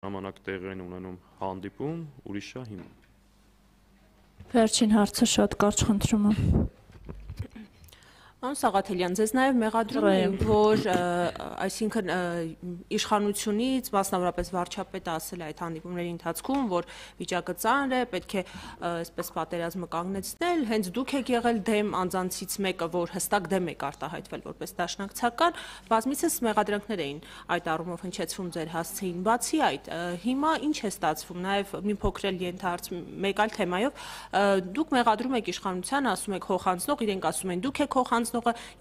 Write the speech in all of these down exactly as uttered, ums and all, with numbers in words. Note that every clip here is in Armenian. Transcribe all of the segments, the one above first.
ժամանակ տեղի են ունենում հանդիպում, ուրիշա հիմա։ Վերջին հարցը շատ կարճ խնդրում եմ։ Պարոն Սաղաթելյան, ձեզ նաև մեղադրում էին, որ այսինքն իշխանությունից, մասնավորապես վարչապետը ասել է այդ հանդիպումների ընթացքում, որ վիճակը ծանր է, պետք է այսպես պատերազմը կանգնեցնել, հենց դուք եք եղել դեմ անձանցից մեկը, որ հստակ դեմ եք արտահայտվել որպես դաշնակցական, բազմիցս մեղադրանքներ էին այդ առումով հնչեցվում ձեր հասցեին, բացի այդ, հիմա ինչ է ստացվում, նաև մի փոքր էլ ենթահարց մեկ այլ թեմայով, դուք մեղադրում եք իշխանությանը, ասում եք հոխանցնող, իրենք ասում են դուք եք հոխանցնողը,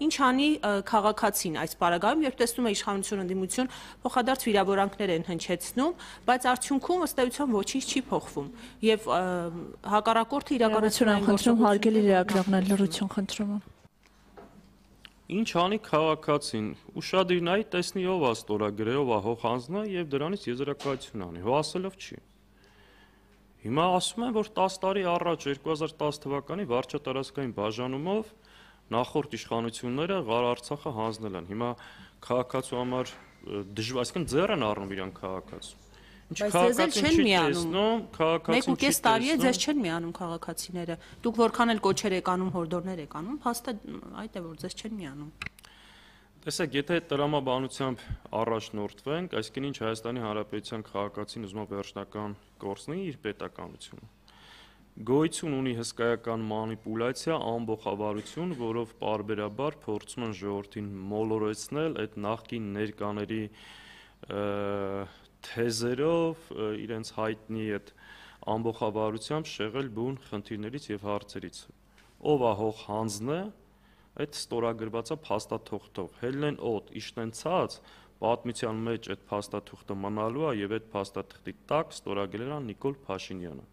ինչ անի քաղաքացին այս պարագայում, երբ տեսնում է իշխանություն ընդդիմություն փոխադարձ վիրավորանքներ են հնչեցնում, բայց արդյունքում ըստ էության ոչինչ չի փոխվում եւ հակառակորդը իրականացնում են խնդրում հարգելի լրագրողներ լրություն խնդրում եմ։ Ինչ անի քաղաքացին, ուշադիր նայի տեսնի ով է ստորագրել, ով է հոխանձնա եւ դրանից եզրակացություն անի, հո ասելով չի։ Հիմա ասում են, որ տասը տարի առաջ երկու հազար տասը թվականի վարչատարածքային բաժանումով նախորդ իշխանությունները Ղար Արցախը հանձնել են։ Հիմա քաղաքացու համար դժվար, այսինքն ձեռ են առնում իրան քաղաքացու։ Բայց ձեզ էլ չեն միանում, մեկ ու կես տարի է ձեզ չեն միանում քաղաքացիները, դուք որքան էլ կոչեր եք անում, հորդորներ եք անում, փաստը այդ է, որ ձեզ չեն միանում։ Տեսեք, եթե տրամաբանությամբ առաջնորդվենք, այսինքն ինչ Հայաստանի Հանրապետության քաղաքացին ուզում է վերջնական կորցնի իր պետականությունը, գոյություն ունի հսկայական մանիպուլյացիա, ամբողջավարություն, որով պարբերաբար փորձում են ժողովրդին մոլորեցնել այդ նախկին ներկաների թեզերով, իրենց հայտնի այդ ամբողջավարությամբ շեղել բուն խնդիրներից եւ հարցերից։ Ով է հող հանձնը, այդ ստորագրվածը փաստաթուղթով, հելն են օդ, իշտեն ցած, պատմության մեջ այդ փաստաթուղթը մնալու է եւ այդ փաստաթղթի տակ ստորագրել է Նիկոլ Փաշինյանը։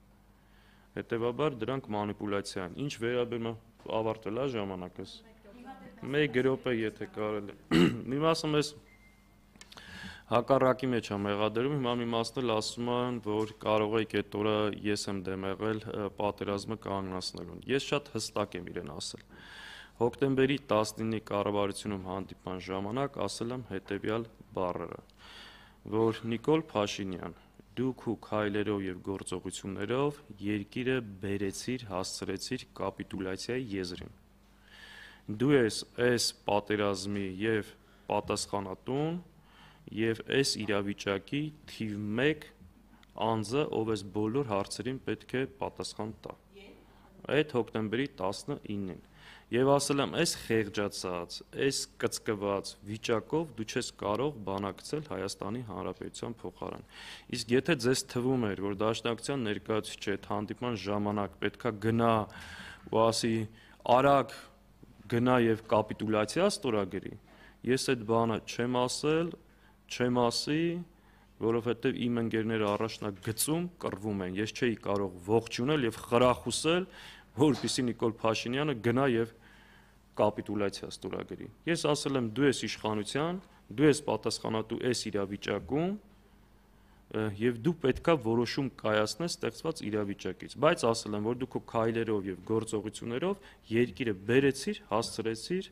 Հետևաբար դրանք մանիպուլյացիա են։ Ինչ վերաբերում է ավարտվել է ժամանակս։ Մեկ րոպե եթե կարելի է։ Մի մասը մեզ հակառակի մեջ է մեղադրում, հիմա մի մասն էլ ասում են, որ կարող եք այդ օրը ես եմ դեմ եղել պատերազմը կանգնացնելուն։ Ես շատ հստակ եմ իրեն ասել։ Հոկտեմբերի տասնինի կառավարությունում հանդիպման ժամանակ ասել եմ հետևյալ բառերը, որ Նիկոլ Փաշինյան, դուք ու քայլերով եւ գործողություններով երկիրը բերեցիր, հասցրեցիր կապիտուլյացիայի եզրին։ Դու ես այս պատերազմի եւ պատասխանատուն եւ այս իրավիճակի թիվ մեկ անձը, ով այս բոլոր հարցերին պետք է պատասխան տա։ Այդ հոկտեմբերի տասնինին եւ ասել եմ, այս խեղճացած, այս կծկված վիճակով դու չես կարող բանակցել Հայաստանի Հանրապետության փոխարեն։ Իսկ եթե ձեզ թվում էր, որ դաշնակցության ներկայացուցիչը այդ հանդիպման ժամանակ պետքա գնա ու ասի արագ գնա եւ կապիտուլյացիա ստորագրի, ես այդ բանը չեմ ասել, չեմ ասի, որովհետեւ իմ ընկերները առաջնակ գծում կռվում են, ես չէի կարող ողջունել եւ խրախուսել, որպեսզի Նիկոլ Փաշինյանը գնա եւ կապիտուլյացիա ստորագրի։ Ես ասել եմ դու ես իշխանության, դու ես պատասխանատու այս իրավիճակում եւ դու պետքա որոշում կայացնես ստեղծված իրավիճակից, բայց ասել եմ, որ դու քո քայլերով եւ գործողություններով երկիրը բերեցիր, հասցրեցիր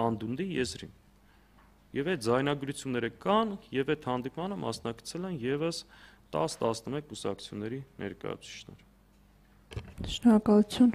անդունդի եզրին։ Եվ այդ ձայնագրությունները կան եւ այդ հանդիպմանը մասնակցել են եւս տասը տասնմեկ կուսակցությունների ներկայացուցիչներ։ Շնորհակալություն։